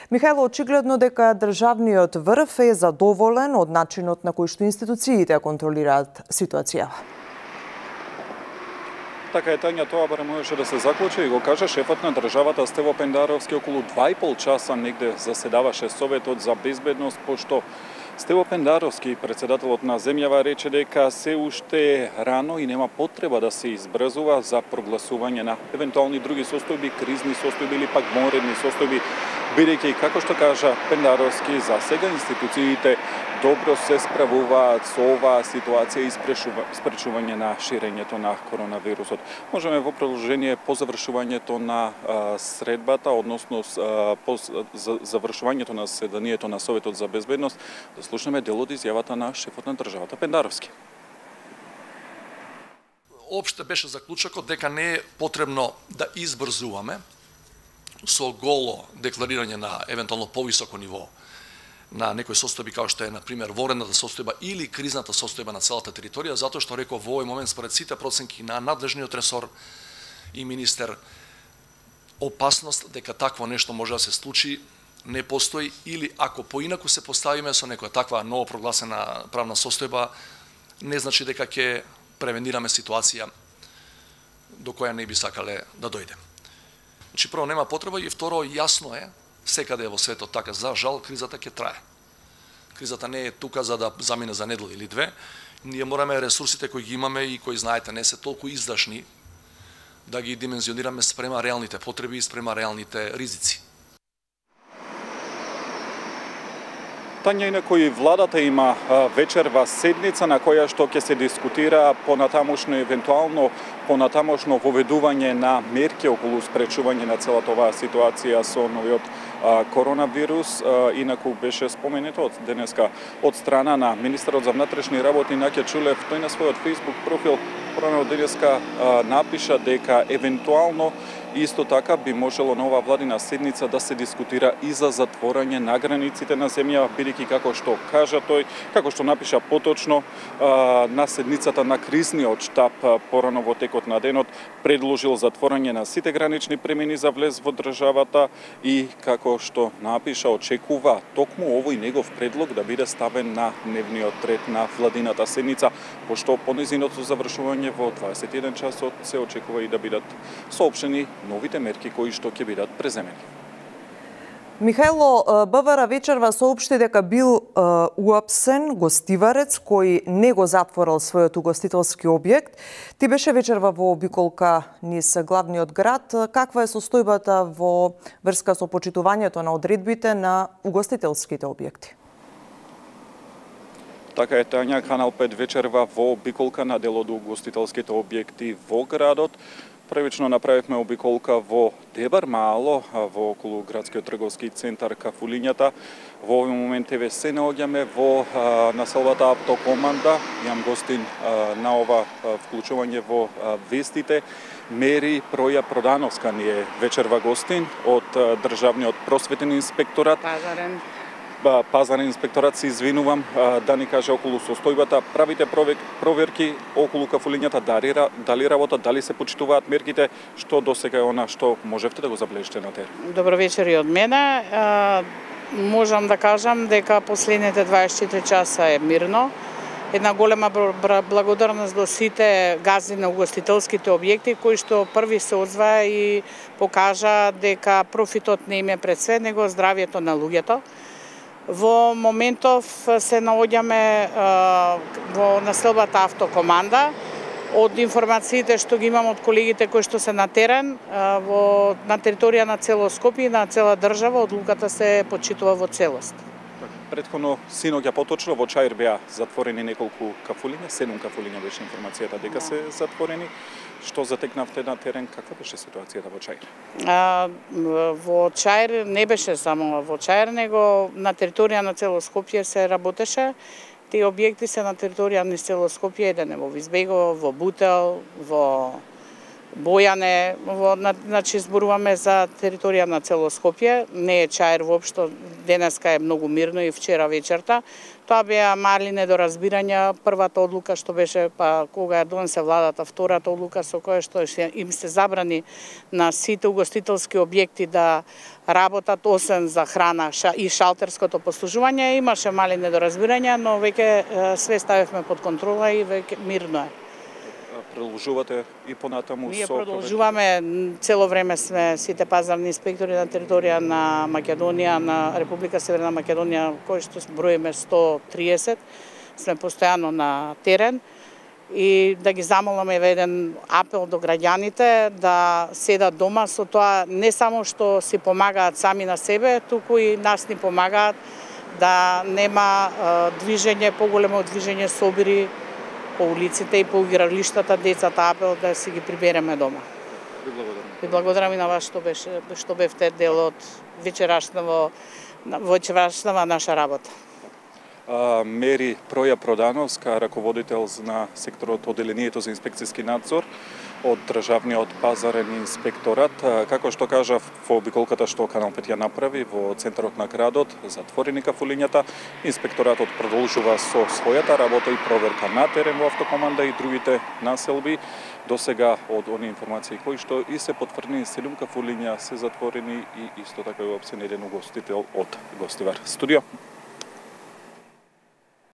Михајло, очигледно дека државниот врв е задоволен од начинот на кој што институциите контролираат ситуацијава. Така е, Тања, тоа барем можеше да се заклучи и го кажа шефот на државата Стево Пендаровски. Околу 2,5 часа негде заседаваше Советот за безбедност, пошто Стево Пендаровски, председателот на земјава, рече дека се уште рано и нема потреба да се избрзува за прогласување на евентуални други состојби, кризни состојби или пак вонредни состојби, бидејќи, како што кажа Пендаровски, за сега институциите добро се справуваат со оваа ситуација и спречување на ширењето на коронавирусот. Можеме во продолжение по завршувањето на средбата, односно по завршувањето на заседанието на Советот за безбедност, да слушнеме дел од изјавата на шефот на државата Пендаровски. Опште беше заклучокот дека не е потребно да избрзуваме со голо декларирање на евентуално повисоко ниво на некои состојби како што е, например, вонредната состојба или кризната состојба на целата територија, затоа што реков во овој момент според сите проценки на надлежниот ресор и министер, опасност дека такво нешто може да се случи не постои, или ако поинаку се поставиме со некоја таква ново прогласена правна состојба, не значи дека ќе превенираме ситуација до која не би сакале да дојде. Значи, прво, нема потреба, и второ, јасно е, секаде во светот така, за жал, кризата ќе трае. Кризата не е тука за да замине за недела или две. Ние мораме ресурсите кои ги имаме и кои, знаете, не се толку издашни, да ги димензионираме спрема реалните потреби и спрема реалните ризици. Тања, инаку и владата има вечерва седница на која што ќе се дискутира понатамошно евентуално понатамошно воведување на мерки околу спречување на целата оваа ситуација со новиот коронавирус. Инаку беше споменето од денеска од страна на министерот за внатрешни работи Наќа Чулев, тој на својот Facebook профил порано денеска напиша дека евентуално исто така би можело на оваа владина седница да се дискутира и за затворање на границите на земја, бидејќи како што кажа тој, како што напиша поточно на седницата на кризниот штаб порано во текот на денот предложил затворање на сите гранични премини за влез во државата и како што напиша очекува токму овој негов предлог да биде ставен на дневниот ред на владината седница, пошто по нејзиното завршување во 21 часот се очекува и да бидат соопштени новите мерки кои што ќе бидат преземени. Михајло, БВР вечерва соопшти дека бил уапсен гостиварец кој не го затворил својот угостителски објект. Ти беше вечерва во обиколка низ главниот град. Каква е состојбата во врска со почитувањето на одредбите на угостителските објекти? Така е, Тања, Канал 5 вечерва во обиколка на дел од угостителските објекти во градот. Првично направивме обиколка во Дебар Мало, во околу градскиот трговски центар Кафулињата. Во овој момент еве се наоѓаме во населбата Автокоманда. Јам гостин на ова вклучување во вестите. Мери Проја Продановска ни е вечерва гостин од Државниот просветен инспекторат. Пазарен инспекторат, се извинувам, да ни каже околу состојбата. Правите проверки околу Кафулињата, дали работат, дали се почитуваат мерките, што досега е она што можевте да го заблежите на терен? Добро вечер и од мене. Можам да кажам дека последните 24 часа е мирно. Една голема благодарност до сите газди на угостителските објекти кои што први се озваа и покажа дека профитот не им е пред све, него здравјето на луѓето. Во моментов се наоѓаме во населбата Автокоманда. Од информациите што ги имам од колегите кои што се на терен, на територија на цело Скопје и на цела држава, одлуката се почитува во целост. Претходно, синоќа поточно, во Чаир беа затворени неколку кафулиња, 7 кафулиња беше информацијата дека се затворени. Што затекнавте на терен, каква беше ситуацијата во Чаир? Во Чаир не беше само во Чаир, него на територија на цело Скопје се работеше. Тие објекти се на територија на цело Скопје, еден е во Визбегово, во Бутел, во Бојане, значи зборуваме за територија на цело Скопје, не е Чаир воопшто, денеска е многу мирно и вчера вечерта. Тоа беа мали недоразбирања. Првата одлука што беше, па кога ја донесе владата, втората одлука со која што им се забрани на сите угостителски објекти да работат освен за храна и шалтерското послужување, имаше мали недоразбирања, но веќе све ставивме под контрола и веќе мирно е. Продолжувате и понатаму Ние продолжуваме, цело време сме сите пазарни инспектори на територија на Македонија, на Република Северна Македонија, кои што броиме 130, сме постојано на терен и да ги замоламе еден апел до граѓаните да седат дома, со тоа не само што си помагаат сами на себе, туку и нас ни помагаат да нема движење, поголемо движење собири по улиците и по игралиштата, децата апел да си ги прибереме дома. Ви благодарам и на вас што бевте дел од вечерашната наша работа. Мери Проја Продановска, раководител на секторот Оделението за инспекцијски надзор од Државниот пазарен инспекторат. Како што кажав, во обиколката што Канал 5 ја направи во центарот на градот, затворени кафулињата, инспекторатот продолжува со својата работа и проверка на терен во автокоманда и другите населби. До сега од они информации кои што и се потврдени 7 кафулиња се затворени и исто така е опсен еден угостител од Гостивар. Студио.